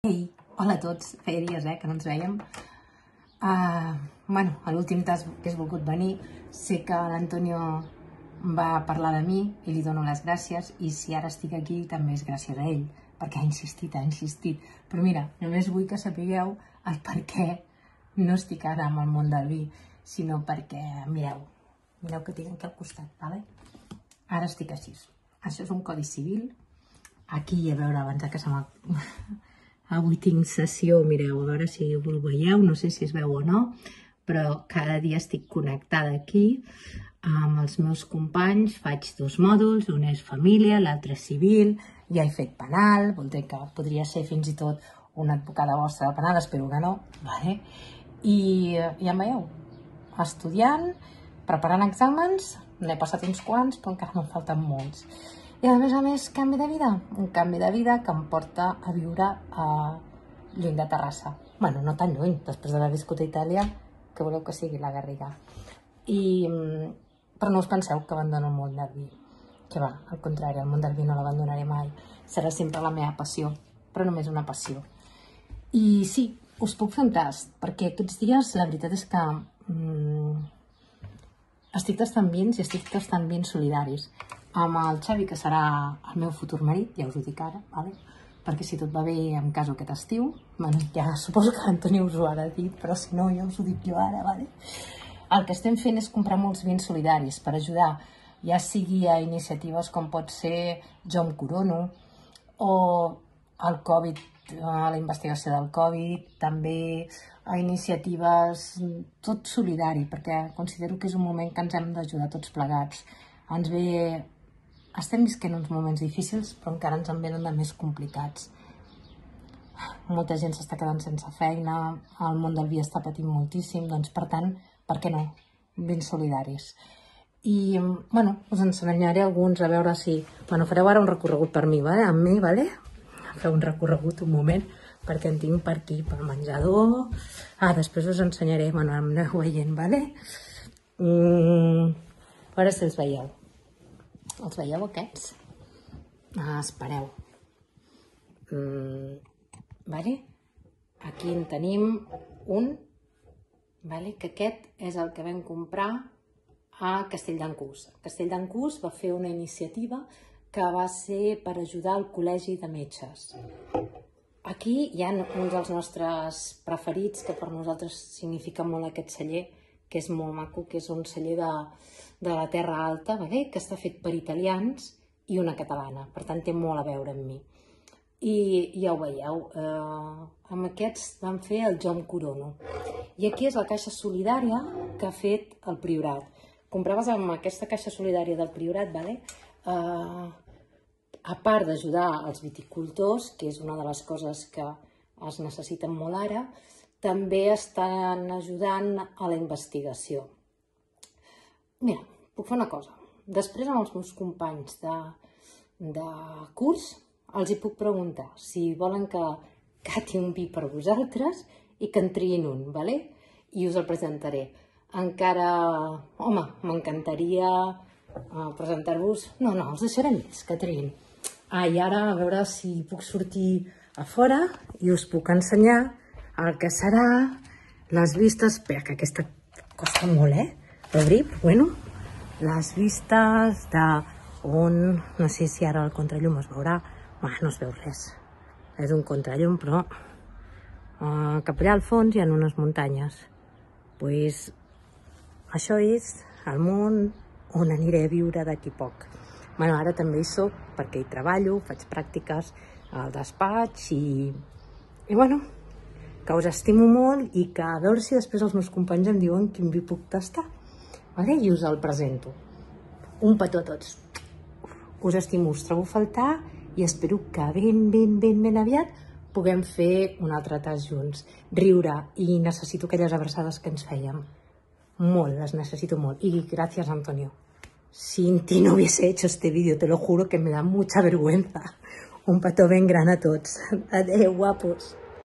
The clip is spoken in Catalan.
Ei, hola a tots, feia dies que no ens vèiem. Bueno, a l'últim tas que has volgut venir, sé que l'Antonio va parlar de mi i li dono les gràcies, i si ara estic aquí també és gràcies a ell, perquè ha insistit. Però mira, només vull que sapigueu el per què no estic ara amb el món del vi, sinó perquè, mireu que tinc aquí al costat, vale? Ara estic així. Això és un codi civil. Aquí, a veure, abans que se m'ha... Avui tinc sessió, mireu, a veure si ho veieu, no sé si es veu o no, però cada dia estic connectada aquí amb els meus companys, faig dos mòduls, un és família, l'altre és civil, ja he fet penal, vol dir que podria ser fins i tot una advocada vostra de penal, espero que no, vale? I ja em veieu, estudiant, preparant exàmens, n'he passat uns quants, però encara me'n falten molts. I a més, canvi de vida. Un canvi de vida que em porta a viure lluny de Terrassa. Bueno, no tan lluny, després d'haver viscut a Itàlia, que voleu que sigui la Garriga. Però no us penseu que abandono el món del vi. Que va, al contrari, el món del vi no l'abandonaré mai. Serà sempre la meva passió, però només una passió. I sí, us puc fer un tast, perquè aquests dies la veritat és que estic tastant vins i estic tastant vins solidaris. Amb el Xavi, que serà el meu futur marit, ja us ho dic ara, perquè si tot va bé em caso aquest estiu. Ja suposo que l'Antoni us ho ha dit, però si no ja us ho dic jo ara. El que estem fent és comprar molts vins solidaris per ajudar, ja sigui a iniciatives com pot ser Jo em corono, o el Covid, a la investigació del Covid, també a iniciatives tot solidari, perquè considero que és un moment que ens hem d'ajudar tots plegats. Estem visquent uns moments difícils, però encara ens en venen de més complicats. Molta gent s'està quedant sense feina, el món del vi està patint moltíssim, doncs per tant, per què no? Vins solidaris. I, bueno, us ensenyaré alguns, a veure si... Bueno, fareu ara un recorregut per mi, amb mi, vale? Feu un recorregut un moment, perquè en tinc per aquí, pel menjador. Després us ensenyaré, bueno, em aneu veient, vale? A veure si els veieu. Els veieu aquests? Espereu. Aquí en tenim un, que aquest és el que vam comprar a Castelldans. Castelldans va fer una iniciativa que va ser per ajudar al Col·legi de Metges. Aquí hi ha un dels nostres preferits, que per nosaltres significa molt aquest celler, que és molt maco, que és un celler de la Terra Alta, que està fet per italians i una catalana, per tant té molt a veure amb mi. I ja ho veieu, amb aquests vam fer el Jo em corono. I aquí és la caixa solidària que ha fet el Priorat. Compraves amb aquesta caixa solidària del Priorat, a part d'ajudar els viticultors, que és una de les coses que es necessiten molt ara, també estan ajudant a la investigació. Mira, puc fer una cosa. Després amb els meus companys de curs els hi puc preguntar si volen que cati un vi per vosaltres i que en triïn un, i us el presentaré. Encara, home, m'encantaria presentar-vos... No, els deixaré més, que triïn. I ara a veure si puc sortir a fora i us puc ensenyar el que serà les vistes... Espera, que aquesta costa molt, d'obrir, però bueno, les vistes d'on... No sé si ara el contrallum es veurà. No es veu res. És un contrallum, però cap allà al fons hi ha unes muntanyes. Doncs això és el món on aniré a viure d'aquí poc. Ara també hi soc perquè hi treballo, faig pràctiques al despatx i bueno, que us estimo molt i que a veure si després els meus companys em diuen quin vi puc tastar. I us el presento. Un petó a tots. Us estimo, us trobo a faltar i espero que ben aviat puguem fer un altre tast junts. Riure, i necessito aquelles abraçades que ens fèiem. Molt, les necesito molt. Y gracias, Antonio. Sin ti no hubiese hecho este vídeo, te lo juro que me da mucha vergüenza. Un petó ben gran a tots. Adeu, guapos.